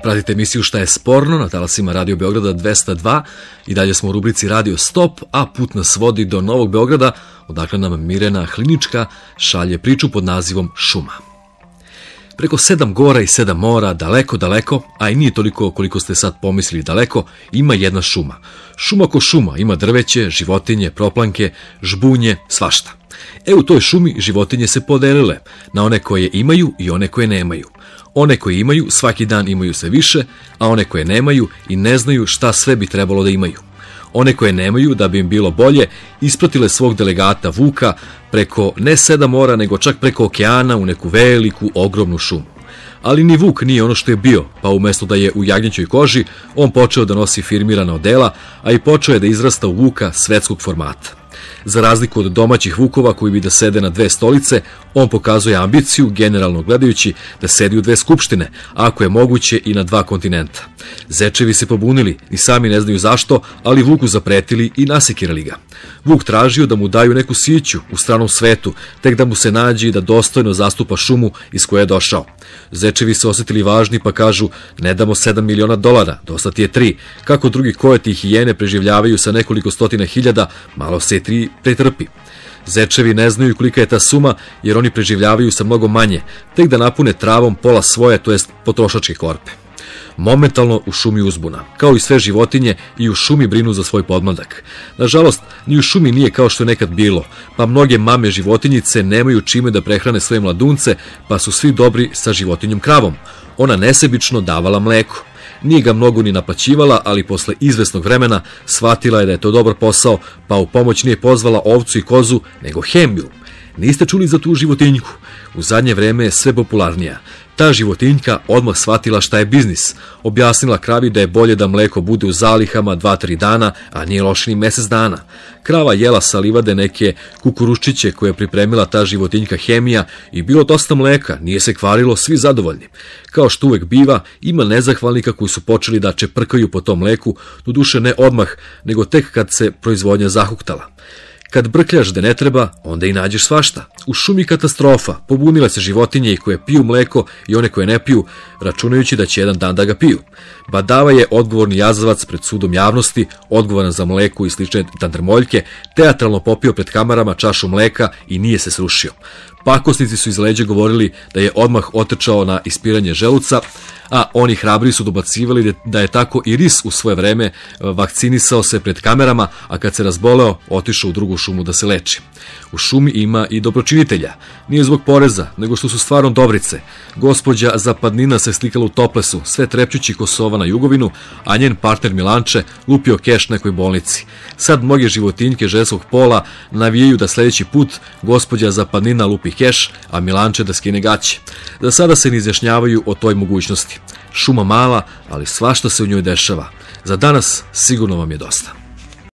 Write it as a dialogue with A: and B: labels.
A: Pratite emisiju Šta je sporno na talasima Radio Beograda 202 i dalje smo u rubrici Radio Stop, a put nas vodi do Novog Beograda, odakle nam Mirena Hlinička šalje priču pod nazivom Šuma. Preko 7 gora i 7 mora, daleko, daleko, a i nije toliko koliko ste sad pomislili daleko, ima jedna šuma. Šuma ko šuma, ima drveće, životinje, proplanke, žbunje, svašta. U toj šumi životinje se podelile na one koje imaju i one koje nemaju. One koje imaju svaki dan imaju sve više, a one koje nemaju i ne znaju šta sve bi trebalo da imaju. One koje nemaju, da bi im bilo bolje, ispratile svog delegata Vuka preko ne 7 mora, nego čak preko okeana u neku veliku, ogromnu šumu. Ali ni Vuk nije ono što je bio, pa umjesto da je u jagnjećoj koži, on počeo da nosi firmirana odela, a i počeo je da izrasta u Vuka svetskog formata. Za razliku od domaćih Vukova koji bi da sede na 2 stolice, on pokazuje ambiciju, generalno gledajući, da sedi u 2 skupštine, a ako je moguće i na 2 kontinenta. Zečevi se pobunili, ni sami ne znaju zašto, ali Vuku zapretili i nasekirali ga. Vuk tražio da mu daju neku siću u stranom svetu, tek da mu se nađe i da dostojno zastupa šumu iz koje je došao. Zečevi se osjetili važni pa kažu: ne damo $7 miliona, dosta ti je 3. Kako drugi kojeti i hijene preživljavaju sa nekoliko stotina hiljada, malo se 3 pretrpi. Zečevi ne znaju kolika je ta suma, jer oni preživljavaju sa mnogo manje, tek da napune travom pola svoje, to jest potrošačke korpe. Momentalno u šumi uzbuna. Kao i sve životinje, i u šumi brinu za svoj podmladak. Nažalost, ni u šumi nije kao što je nekad bilo, pa mnoge mame životinjice nemaju čime da prehrane svoje mladunce, pa su svi dobri sa životinjom kravom. Ona nesebično davala mleko. Nije ga mnogo ni naplaćivala, ali posle izvesnog vremena shvatila je da je to dobar posao, pa u pomoć nije pozvala ovcu i kozu, nego hemiju. Niste čuli za tu životinjku? U zadnje vreme je sve popularnija. Ta životinjka odmah shvatila šta je biznis. Objasnila kravi da je bolje da mleko bude u zalihama 2-3 dana, a nije loše ni mesec dana. Krava jela sa livade neke kukuruščiće koje je pripremila ta životinjka hemija i bilo dosta mleka, nije se kvarilo, svi zadovoljni. Kao što uvek biva, ima nezahvalnika koji su počeli da čeprkaju po tom mleku, doduše ne odmah, nego tek kad se proizvodnja zahuktala. Kad brkljaš da ne treba, onda i nađeš svašta. U šumi katastrofa, pobunile se životinje i koje piju mleko i one koje ne piju, računajući da će jedan dan da ga piju. Badava je odgovorni jazavac pred sudom javnosti, odgovoran za mleko i slične tandrmoljke, teatralno popio pred kamerama čašu mleka i nije se srušio. Pakosnici su iz leđa govorili da je odmah otrčao na ispiranje želuca, a oni hrabri su dobacivali da je tako i ris u svoje vreme vakcinisao se pred kamerama, a kad se razboleo, otišao u drugu šumu da se leči. U šumi ima i dobročinitelja. Nije zbog poreza, nego što su stvarno dobrice. Gospođa Zapadnina se slikala u toplesu, sve trepćući Kosova na jugovinu, a njen partner Milanče lupio keš nekoj bolnici. Sad mnoge životinjke ženskog pola navijaju da sledeći put gospođa Zapadnina lupi keš, a Milanče da skine gaće. Za sada se ne izjašnjavaju o toj mogućnosti. Šuma mala, ali svašta se u njoj dešava. Za danas sigurno vam je dosta.